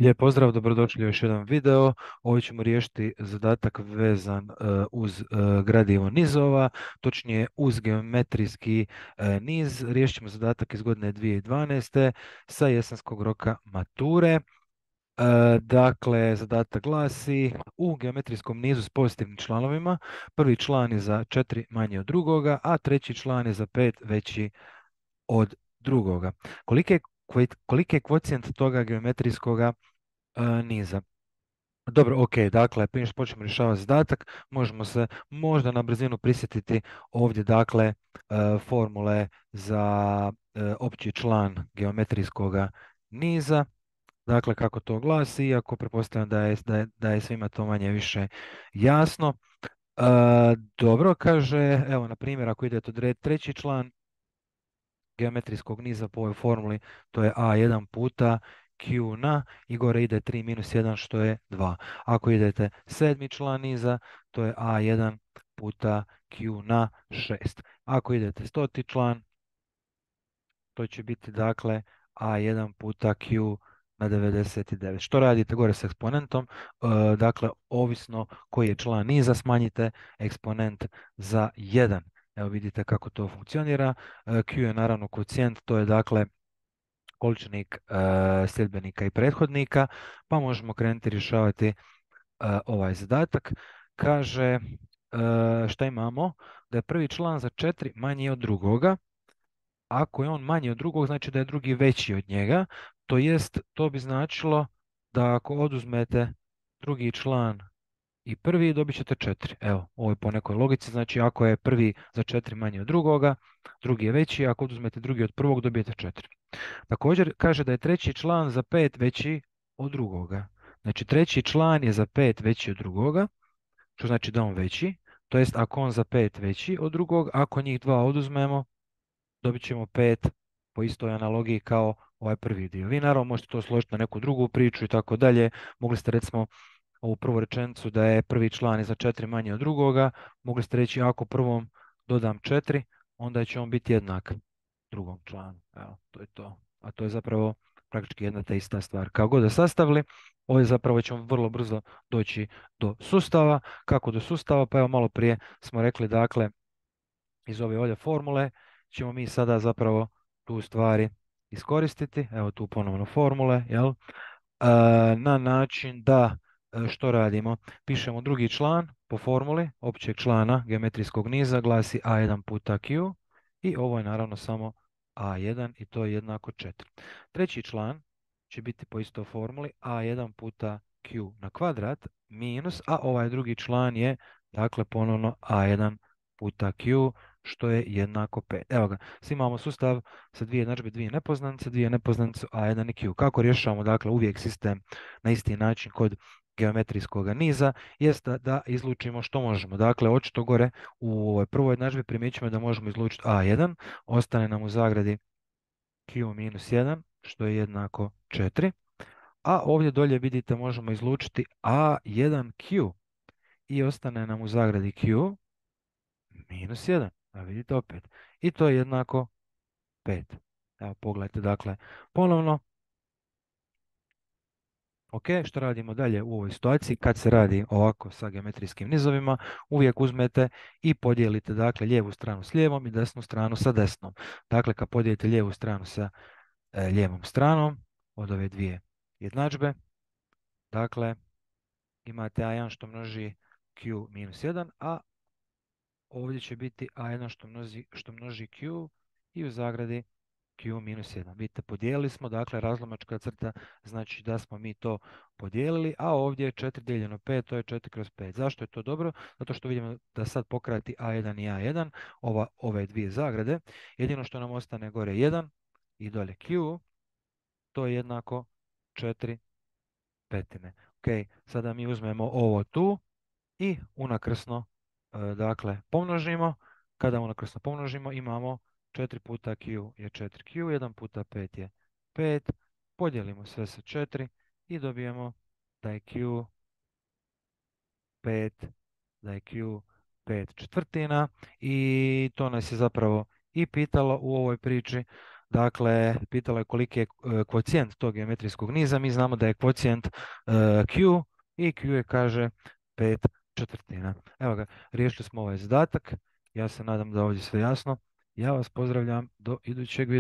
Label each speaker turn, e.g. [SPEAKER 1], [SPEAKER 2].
[SPEAKER 1] Lijep pozdrav, dobrodošli u još jedan video. Ovdje ćemo riješiti zadatak vezan uz gradivo nizova, točnije uz geometrijski niz. Riješit ćemo zadatak iz godine 2012. sa jesenskog roka mature. Dakle, zadatak glasi u geometrijskom nizu s pozitivnim članovima. Prvi član je za 4 manje od drugoga, a treći član je za 5 veći od drugoga. Koliki je kvocijent toga geometrijskoga niza? Dobro, ok, dakle, prije što počnemo rješavati zadatak, možemo se možda na brzinu prisjetiti ovdje, dakle, formule za opći član geometrijskog niza, dakle, kako to glasi, iako pretpostavljam da je svima to manje više jasno. E, dobro, kaže, evo, na primjer, ako idete odrediti treći član geometrijskog niza po ovoj formuli, to je a1 puta q na i gore ide 3 minus 1 što je 2. Ako idete sedmi član niza, to je a1 puta q na 6. Ako idete stoti član, to će biti dakle a1 puta q na 99. Što radite gore s eksponentom? Dakle, ovisno koji je član niza, smanjite eksponent za 1. Evo vidite kako to funkcionira. Q je naravno koeficijent, to je dakle količnik sljedbenika i prethodnika, pa možemo krenuti rješavati ovaj zadatak. Kaže, šta imamo? Da je prvi član za 4 manji od drugoga. Ako je on manji od drugog, znači da je drugi veći od njega. To jest, to bi značilo da ako oduzmete drugi član i prvi, dobit ćete 4. Evo, ovo je po nekoj logici, znači ako je prvi za 4 manji od drugoga, drugi je veći, ako oduzmete drugi od prvog, dobijete 4. Također kaže da je treći član za 5 veći od drugoga. Znači treći član je za 5 veći od drugoga, što znači da je on veći. To jest ako on za 5 veći od drugog, ako njih dva oduzmemo, dobit ćemo 5 po istoj analogiji kao ovaj prvi dio. Vi naravno možete to složiti na neku drugu priču i tako dalje. Mogli ste recimo ovu prvu rečenicu da je prvi član je za 4 manje od drugoga. Mogli ste reći ako prvom dodam 4, onda će on biti jednak drugom članu. Evo, to je to. A to je zapravo praktički jedna te ista stvar. Kako god da sastavili, ovdje zapravo ćemo vrlo brzo doći do sustava. Kako do sustava? Pa evo malo prije smo rekli, dakle, iz ove ovdje formule ćemo mi sada zapravo tu stvari iskoristiti. Evo tu ponovno formule, jel? Na način da što radimo? Pišemo drugi član po formuli općeg člana geometrijskog niza, glasi a1 puta q i ovo je naravno samo a1 i to je jednako 4. Treći član će biti po istoj formuli a1 puta q na kvadrat minus, a ovaj drugi član je dakle ponovno a1 puta q što je jednako 5. Evo ga, svi imamo sustav sa dvije jednadžbe, dvije nepoznanice a1 i q. Kako rješavamo dakle uvijek sistem na isti način kod geometrijskog niza, jest da izlučimo što možemo. Dakle, očito gore u ovoj prvoj jednadžbi primjećujemo da možemo izlučiti a1, ostane nam u zagradi q minus 1, što je jednako 4, a ovdje dolje vidite možemo izlučiti a1q i ostane nam u zagradi q minus 1. A vidite opet. I to je jednako 5. Evo pogledajte dakle ponovno. Ok, što radimo dalje u ovoj situaciji? Kad se radi ovako sa geometrijskim nizovima, uvijek uzmete i podijelite dakle lijevu stranu s lijevom i desnu stranu sa desnom. Dakle, kad podijelite lijevu stranu sa lijevom stranom od ove dvije jednadžbe, dakle, imate a1 što množi q minus 1, a ovdje će biti a1 što množi q i u zagradi q minus 1. Vidite, podijelili smo, dakle razlomačka crta znači da smo mi to podijelili, a ovdje je 4 dijeljeno 5, to je 4 kroz 5. Zašto je to dobro? Zato što vidimo da sad pokrati a1 i a1, ove dvije zagrade. Jedino što nam ostane gore 1 i dolje q, to je jednako 4 petine. Ok, sada mi uzmemo ovo tu i unakrsno dakle pomnožimo. Kada unakrsno pomnožimo imamo 4 puta q je 4q, 1 puta 5 je 5, podijelimo sve sa 4 i dobijemo da je q 5, da je q 5 četvrtina i to nas je zapravo i pitalo u ovoj priči. Dakle, pitala je koliki je kvocijent tog geometrijskog niza. Mi znamo da je kvocijent Q i Q je, kaže, 5/4. Evo ga, riješili smo ovaj zadatak. Ja se nadam da je ovdje sve jasno. Ja vas pozdravljam do idućeg videa.